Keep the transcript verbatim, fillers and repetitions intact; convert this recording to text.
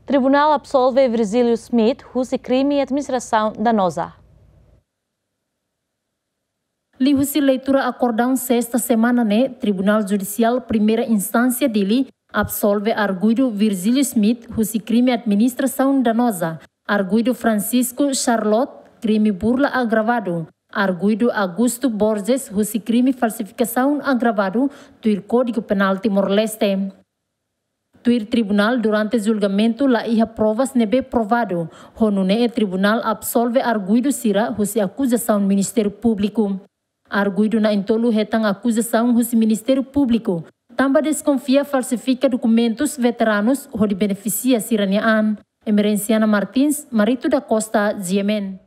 Tribunál absolve Virgílio Smith husi krime administrasaun danoza. Liuhusi leitura akordaun sesta semana ne'e, Tribunál Judisiál Primeira Instánsia Dili absolve arguidu Virgílio Smith husi krime administrasaun danoza, arguidu Francisco Charlotte, krime burla agravadu, arguidu Augusto Borges husi krime falsifikasaun agravadu, tuir Kódigu Penál Timor-Leste. Tuir tribunál, durante julgamentu la iha provas ne'ebé provadu, ho nune'e tribunál absolve arguidu sira husi akuzasaun Ministériu Públiku. Arguidu na'in-tolu hetan akuzasaun husi Ministériu Públiku, tanba deskonfia falsifika dokumentus veteranus hodi benefisia sira-nia an. Emerenciana Martins, Marito da Costa, G M N.